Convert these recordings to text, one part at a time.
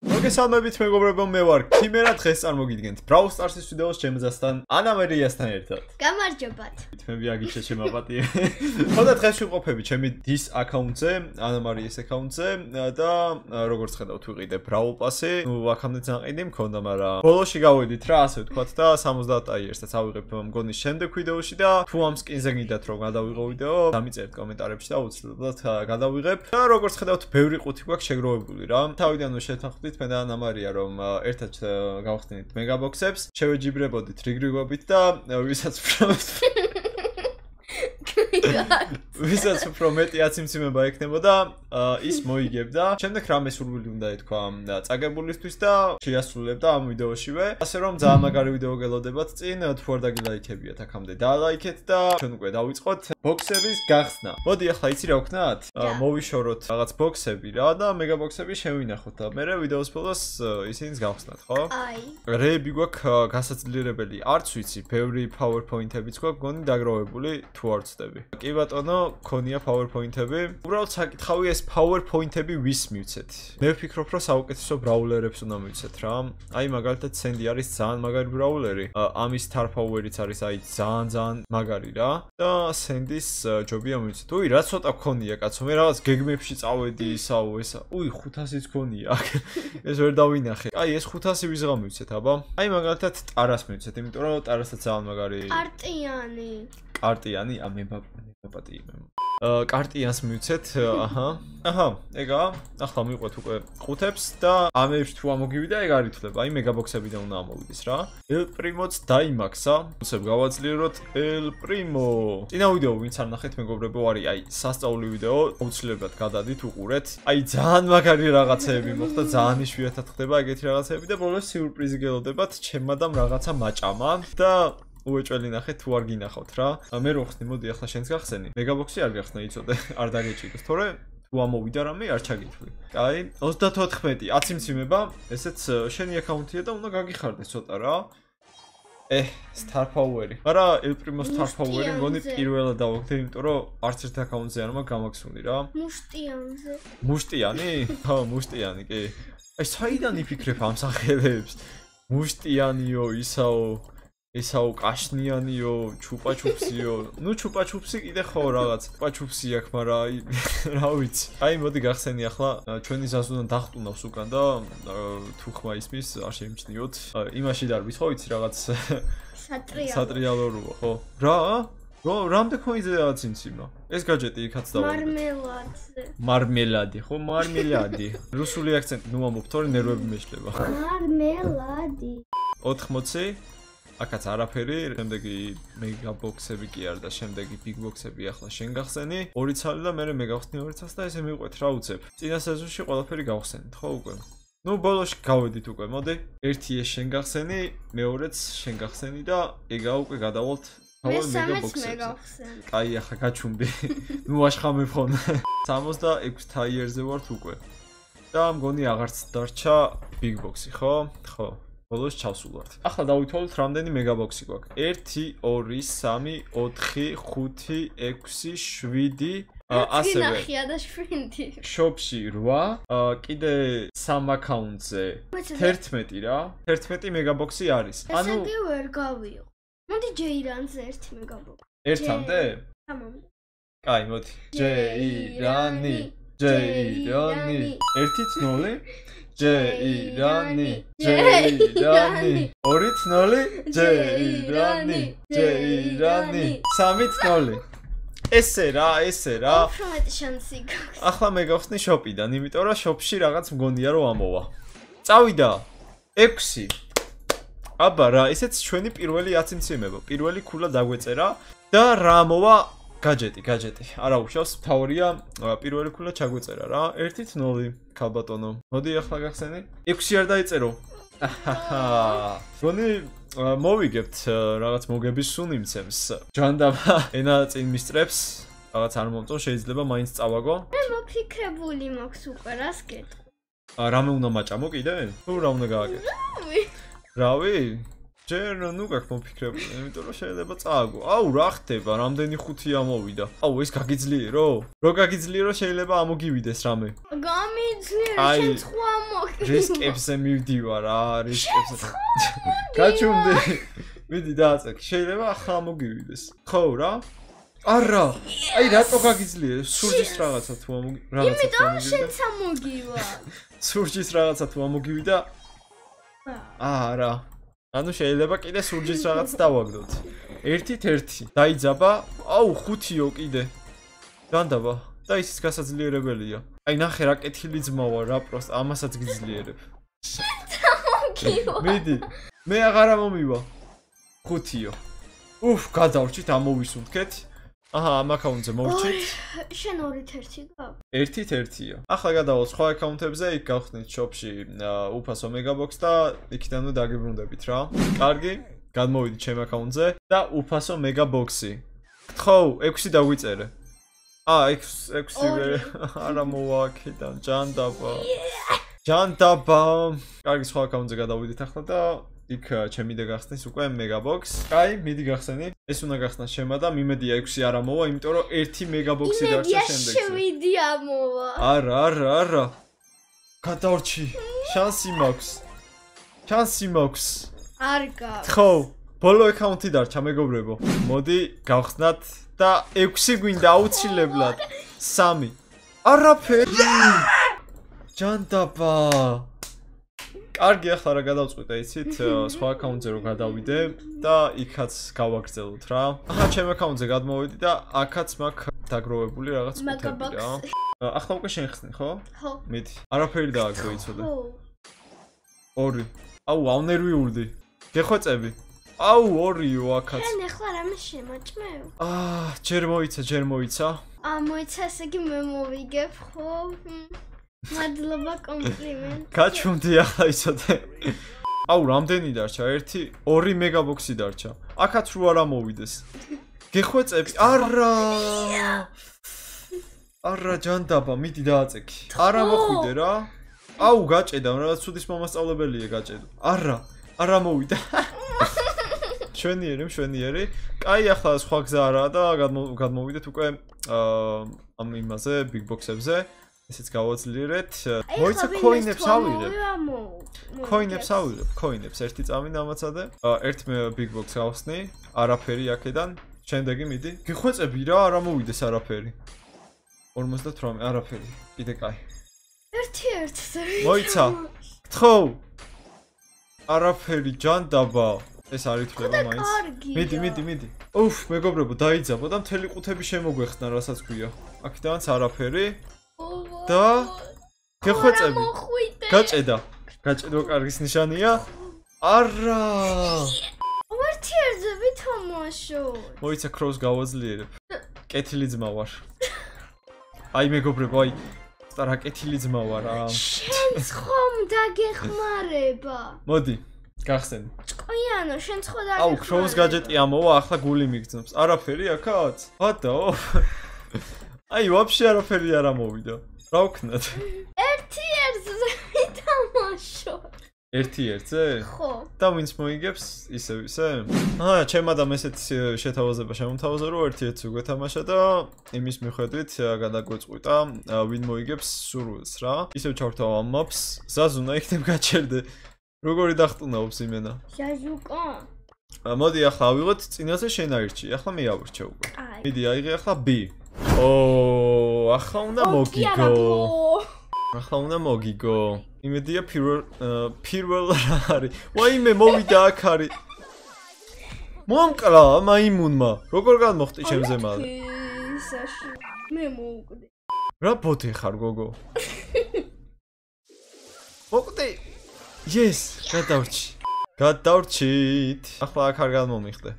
მოგესალმებით მეგობრებო, მე ვარ ქიმერა, დღეს წარმოგიდგენთ Brawl Stars-ის ვიდეოს ჩემზასთან ანა მარიასთან ერთად. გამარჯობათ. მე აგიჩე შემაპატიე. ხოდა დღეს ვიყოფები ჩემი დის აკაუნტზე, ანა მარიას აკაუნტზე და როგორც ხედავთ ვიყიდე Brawl Pass-ი. ნუ აქამდე ძანყიდი მქონდა, მაგრამ ბოლოში გავედით რა, ასე ვთქვათ და 70 ტაიერსაც ავიღებ მგონი შემდეგ ვიდეოში და თუ ამ სკინზე გინდათ რომ გადავიღო ვიდეო, დამიწერეთ კომენტარებში და აუცილებლად გადავიღებ. და როგორც ხედავთ, ბევრი ყუთი გვაქვს შეგროვებული რა. თავიდანვე შეთანხმდით მე და ანა მარია რომ ერთად გავხსნით მეგაბოქსებს, შევეჯიბრებოდით რიგრიგობით და ვისაც უფრო მეტი აციმციმება ექნებოდა, ის მოიგებდა. შემდეგ რამე სურვილი უნდა ეთქვა წაგებულისთვის და შეასრულებდა ამ ვიდეოშივე. ასე რომ ძალიან მაგარი ვიდეო გელოდებათ წინ, თუ არ დაგილაიქებიათ აქამდე დალაიქეთ და ჩვენ უკვე დავიწყოთ ბოქსების გახსნა. მოდი ახლა იცი რა ვქნათ? მოვიშოროთ რაღაც ბოქსები რა და მეგაბოქსები შევინახოთ და მერე ვიდეოს ბოლოს ისინიც გავხსნათ, ხო? აი. რეები გვაქვს გასაძლიერებელი, არც ვიცი, ბევრი PowerPoint-ებიც გვაქვს გონი დაგროვებული თუ არ ვცდები. კი ბატონო, ქონია PowerPoint-ები. უბრალოდ საკითხავი ეს PowerPoint-ები ვის მივცეთ? მე ვფიქრობ, რომ საუკეთესო ბრაულერებს უნდა მივცეთ რა. აი მაგალითად Sandy არის ძალიან მაგარი ბრაულერი. ამის Star Power-იც არის აი ძალიან მაგარი რა. და Sandy-ს ჯობია მივცეთ. უი, რა ცოტა ქონია კაცო, მე რაღაც გეგმებში წავედი ისაო ესა. უი, 500-იც ქონია. ეს ვერ დავინახე. აი ეს 500 ვიზღა მივცეთ, აბა. აი მაგალითად Taras მივცეთ, იმიტომ რომ Taras-აც ძალიან მაგარი. კარტიანი. კარტიანი, მებაპატიე მე. კარტიანს მივცეთ, აჰა, ეგა. ახლა მივყვეთ უკვე ყუთებს და ამებში თუ ამოგივიდა, ეგ არ ითვლება. აი მეგაბოქსებიდან უნდა ამოვიდეს რა. El Primo-ც დაიმაქსა. უცებ გავაძლიეროთ El Primo. წინა ვიდეო ვინც არ ნახეთ მეგობრებო, არის აი სასწაული ვიდეო, აუცილებლად გადადით უყურეთ. აი ძალიან მაგარი რაღაცეები მოხდა, ძალიან იშვიათად ხდება ეგეთი რაღაცეები და ბოლოს სიურპრიზი გელოდებათ, ჩემადამ რაღაცა მაჭამა და უეჭველი ნახეთ თუ არ გინახავთ რა. მე რო ხსნი, მოდი ახლა შენს გახსენი. მეგაბოქსი არ გახსნა, იცოდე, არ დაგეჭირდეს, თორე თუ ამოვიდა რამე არ ჩაგითვლი. კაი, 34, აციმციმება, ესეც შენი აკაუნტია და უნდა გაგიხარდეს ცოტა რა. Star Power-ი. მაგრამ El Primo Star Power-ი მგონი პირველად დავაგდე, იმიტომ რომ არც ერთ აკაუნტზე არ მაქვს გამაქსული რა. მუშტიანზე. მუშტიანი? ხო, მუშტიანი, კი. აი, საიდან იფიქრებ ამ სახელებს? მუშტიანიო, ისაო კაშნიანიო, ჩუპაჩუპსიო. ნუ ჩუპაჩუპსი კიდე ხო რაღაც. ჩუპაჩუპსი აქვს, მაგრამ აი რა ვიცი. აი მოდი გახსენი ახლა ჩვენი ზაზუნან დახტუნავს უკან და თუ ხმა ისმის არ შეიმჩნიოთ. იმაში დარბის ხო იცი რაღაც სატრიალო როა, ხო? რა? რამდენ ქონიზე აცინციმა? ეს გაჯეტი იქაც დავაგდეთ. მარმელადი, ხო, მარმელადი. რუსული აქცენტი ნუ ამობ, თორე ნერვები მეშლება. მარმელადი. 80 აქაც არაფერი, შემდეგი მეგაბოქსები კი არა და შემდეგი ბიგბოქსები ახლა შენ გახსენი. 2 ცალი და მე მეგავხსნი 2 ცალს და ესე მივყვეთ რა უცებ. წინა სეზონში ყველაფერი გავხსენით, ხო უკვე? ნუ ბოლოში გავედით უკვე, მოდი. ერთი ეს შენ გახსენი, მეორეც შენ გახსენი და ეგა უკვე გადავალთ თავად მეგაბოქსებზე. კაი, ახლა გაჩუმდი. ნუ აშხამებ ხოლმე. 66 ტაიერზე ვართ უკვე. და მგონი აღარც დარჩა ბიგბოქსი, ხო? ხო. ბოლოს ჩავსულვართ. ახლა დავითვალოთ რამდენი მეგაბოქსი გვაქვს. 1 2 3 4 5 6 7 ასევე 7. შოპში 8, კიდე 3 აკაუნტზე 11 რა. 11 მეგაბოქსი არის. ანუ ესე ვერ გავიო. მოდი ჯეირანზე 1 მეგაბოქსი. ერთამდე? ამამდე. კაი, მოდი. ჯეირანი. 1-0 ჯეირანი 2-0 ჯეირანი 3-0 ესე რა უფრო მეტი შანსი გაქვს. ახლა მე გავხსნი შოპიდან, იმიტომ რომ შოპში რაღაც მგონია რომ ამოვა. წავიდა 6. აბა რა, ესეც ჩვენი პირველი აციმციმება, პირველი ქულა დაგვეწერა და რა ამოვა? გაჯეტი. არა უშავს, თავია პირველი ქულა ჩაგვეწერა რა. 1-0 ქალბატონო. მოდი ახლა გახსენი. 6 არ დაიწერო. გონი მოვიგებთ რაღაც მოგების სულ იმცემს. ჯანდაბა ენა წინ მისწრებს. რაღაც არ მომწონ, შეიძლება მაინც წავაგო. მე მოფიქრებული მაქვს უკვე რას გეტყვი. რამე უნდა მაჭამო კიდე? თუ რა უნდა გააკეთო? რავი? ჯერ ნუ გაქვს მოფიქრებული, იმიტომ რომ შეიძლება წააგო. აუ, რა ხდება? რამდენი ხუთი ამოვიდა? აუ, ეს გაგიძლიერო? რო გაგიძლიერო შეიძლება ამოგივიდეს რამე. გამიძლიერო, შენ სხვა მოგივიდა. რისკებზე მივდივარ რა, რისკებზე. გაჩუნდი. მიდი დააწექ, შეიძლება ახლა ამოგივიდეს. ხო რა? არა. აი რატო გაგიძლიერე? სურჯის რაღაცა თუ ამოგივიდა. იმიტომ შენ სამოგივა. სურჯის რაღაცა თუ ამოგივიდა. არა. ანუ შეიძლება კიდე სურჯის რაღაც დავაგდოთ. 1-1. დაიძაბა. აუ, 5-ო კიდე. განდაბა. და ისიც გასაძლიერებელია. აი ნახე რა კეთილი ძმა ვარ რა პროსტ ამასაც გიძლიერებ. მიდი. მე აღარ მომივა. 5-ო. უფ, გადავრჩით ამოვისუნთქეთ. აჰა, ამ აკაუნტზე მოვჭით. შენ 2-1 გაქვს. 1-1-ია. ახლა გადავალ სხვა აკაუნტებზე, იქ გავხსნით shop-ში უფასო მეგაბოქს და იქიდან დაგიბრუნდებით რა. კარგი, გადმოვიდით ჩემ აკაუნტზე და უფასო მეგაბოქსი. ხო, 6 დაგვიწერე. 6 არა მოვაკეთან, ჯანდაბა. ჯანდაბა. კარგი, სხვა აკაუნტზე გადავიდით ახლა და იქ ჩემი და გახსნის უკვე მეგაბოქს. კაი, მიდი გახსენი. ეს უნდა გახსნას შემა და მიმედია 6 არ ამოვა, იმიტომ რომ 1 მეგაბოქსი დარჩა შემდეგზე. იმედია 7 ამოვა. არა. გადავრჩი. შანსი მაქვს. არ გაქვს. ხო, ბოლო აკაუნტი დარჩა მეგობრებო. მოდი გავხსნათ და 6 გვინდა აუცილებლად. 3. არაფერი. ჯანდაბა. კარგი, ახლა რა გადავწყვიტე, იცით, სხვა აკაუნტზე რო გადავიდე და იქაც გავაგრძელოთ რა. აჰა, ჩემ აკაუნტზე გადმოვიდი და აქაც მაქვს დაგროვებული რაღაც კუთები რა. ახლა უკვე შენ ხსნი, ხო? ხო. მიდი. არაფერი დააგდო იცოდე. ხო. 2. აუ, ავნერვიურდი. გეხვეწები. აუ, 2-ო აქაც. შენ ახლა რამე შემაჭმევ? ჯერ მოიცა. მოიცა, ესე იგი მე მოვიგებ, ხო? მადლობა კომპლიმენტი. გაჩუნდი ახლა იცოდე. აუ, რამდენი დარჩა? 2 მეგაბოქსი დარჩა. აქაც რო არ ამოვიდეს. გეხვეწები? არა, ჯანდაბა, მიდი დააწექი. არ ამოხვიდე რა. აუ, გაჭედა, რაღაც ცუდის მომასწავლებელია გაჭედო. არა მოვიდა. შვენიერი. კაი, ახლა სხვა გზა არაა და გადმოვიდეთ უკვე ამ იმაზე, big box-ებზე. ესეც გავაძლიერეთ. მოიცა coin-ებს ავიღებ. coin-ებს ერთი წამინ ამაცადე. ერთ big box გავხსნი, არაფერი აქედან. შემდეგი მიდი. გიხვეწები რა, არ ამოვიდეს არაფერი. 58, არაფერი. კიდე კაი. 1-1-ზე. მოიცა. ხო. არაფერი, ჯანდაბა. ეს არ ითვლება მაინც. მიდი. უფ, მეგობრებო, დაიძაბო და მთელი ყუთები შემოგვეხსნა, რასაც გვია. აქედანაც არაფერი. და გეხვეწები. გაჭედა კარგის ნიშანია. არა. 1-1-ზე ვითამაშო. მოიცა cross გავაძლიერებ. კეთილი ძმა ვარ. აი მეგობრებო, აი რა კეთილი ძმა ვარ რა. შენ ხომ დაგეხმარება. მოდი, გახსენი. ჭკვიანო, შენ ხო დაგეხმარება. აუ, cross gadget-ი ამოვა, ახლა გული მიგრძნობს. არაფერი აქაც? ბატაო. აი, ვაფშე არაფერი არ ამოვიდა. რა ვქნათ? 1-1-ზე ვითამაშო. 1-1-ზე? ხო. და ვინც მოიგებს, ისე? ჩემ ადამ ესეთ შეთავაზება შემოთავაზა, რომ 1-1-ზე გვეთამაშა და იმის მიხედვით გადაგვეწყვიტა, ვინ მოიგებს სურვილს რა. ისევ ჩავთავ ამ maps, ზაზუნა იქნებ გაჩერდე. როგორი დახტუნაობს იმენა? ჟაჟუკა. მოდი ახლა ავიღოთ, წინაზე შენ აირჩი, ახლა მე ავირჩე უკვე. მიდი, აიღე ახლა B. ახლა უნდა მოგიგო. იმედია პირველ რა არის. ვაიმე მოვიდა აქ არის. მომკლა მაიმუნმა. როგორ გადმოხტი ჩემზე მალე? მე მოვკვდი. რა ბოთი ხარ გოგო? მოკვდი. Yes, გადავრჩით. ახლა აქ არ გადმომიხდე.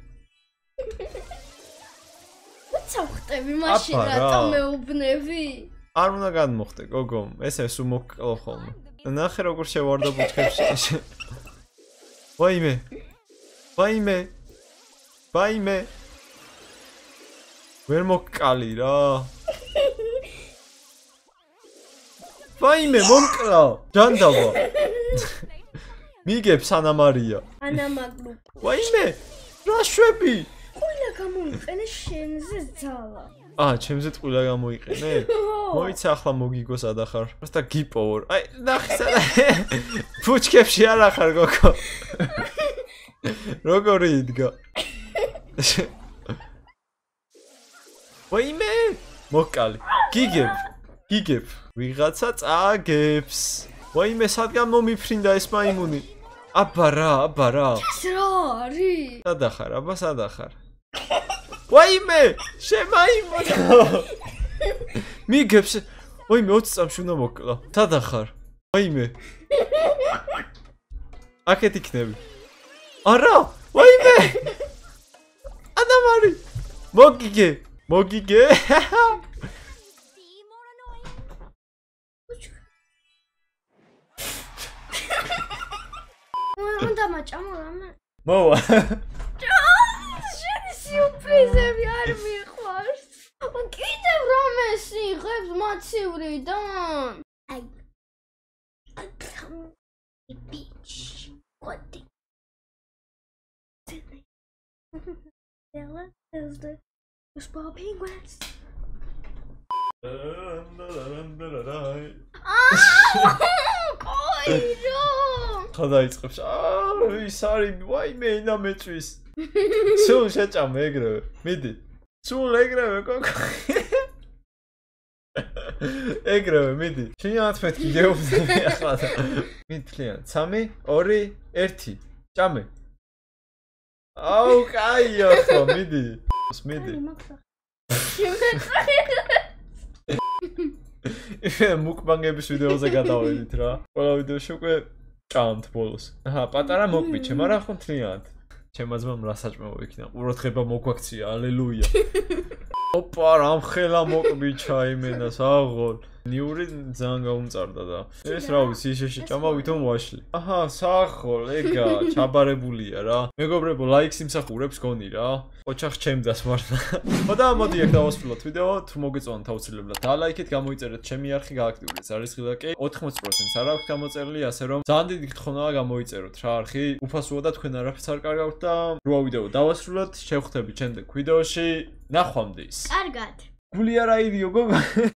წავხტები მაშინ რატომ მეუბნები? არ უნდა გადმოხდე გოგო, ესე სულ მოკლა ხოლმე. ნახე როგორ შევარდა ბუჩქებში. ვაიმე. ვერ მოკალი რა. ვაიმე მომკლა. ჯანდაბა. მიგებს ანა მარია. ანა მაგლუ. ვაიმე, რა შვები? ყვილა გამოიყენე შენზე ძალა. ჩემზე ტყვილა გამოიყენე? მოიცა ახლა მოგიგოს ადახარ. просто გიპოვორ. აი, ნახე სადა. ფუჩკებში არ ახარ გოგო. როგორი იდგა? ვაიმე, მოკალი. გიგებ. ვიღაცა წაგებს. ვაიმე, სადგან მომიფრინდა ეს მაიმუნი. აბა რა. ეს რა არის? სადახარ, აბა სადახარ. ვაიმე, შემაიმონა. მიგებს. ვაიმე, 20 წამში უნდა მოკლა. სადახარ. ვაიმე. აქეთ იქნები. არა, ვაიმე. ანამარი. მოგიგე. უნდა მაჭამო რამე? მოვა. შენი სიურპრიზები არ მიყვარს. კიდევ რამეს იღებს მაცივრიდან? აი. ბიჩ. ყოდი. Ella is the small penguins. Კოირო! ხადაიწყებს. ის არის ვაიმე ინა მეჭვის. სულ შეჭამე ეგრევე. მიდი. სულ ეგრევე კოკო. ეგრევე მიდი. შენიათ მეთქი გეუბნები ახლა. მითლიან 3 2 1 ჭამე. აუ კაია ხო მიდი. მიდი. მუკბანგების ვიდეოზე გადავედით რა. ყველა ვიდეოში უკვე ჭამთ ბოლოს. აჰა, პატარა მოკბიჩე, მაგრამ ხო მთლიანად. ჩემმა ძმამ რა საჭმელო იქნა. ყურადღება მოგვაქცია, ალელუია. ოპა, რამ ხელა მოკბიჩა იმენას აღოლ. ნიური ძალიან გაუმწარდა და ეს რა ვიცი, ისე შეჭამა ვითომ ვაშლი. აჰა, საახოლ, ეგა, ჩაბარებულია რა. მეგობრებო, ლაიქს იმსახურებს გონი რა. ოჩახ ჩემდას მართლა. ხოდა მოდი აქ დავასრულოთ ვიდეო, თუ მოგეწონათ აუცილებლად დალაიქეთ, გამოიწერეთ ჩემი არხი, გააქტიურეთ არისხილაკი. 80%-ს არ აქვს გამოწერილი, ასე რომ ძალიან დიდი გთხოვნაა გამოიწეროთ რა არხი. უფასოა და თქვენ არაფერს არ კარგავთ და რვა ვიდეო დავასრულოთ, შევხვდებით შემდეგ ვიდეოში. ნახვამდის. კარგად. გული არ აიდიო გოგო.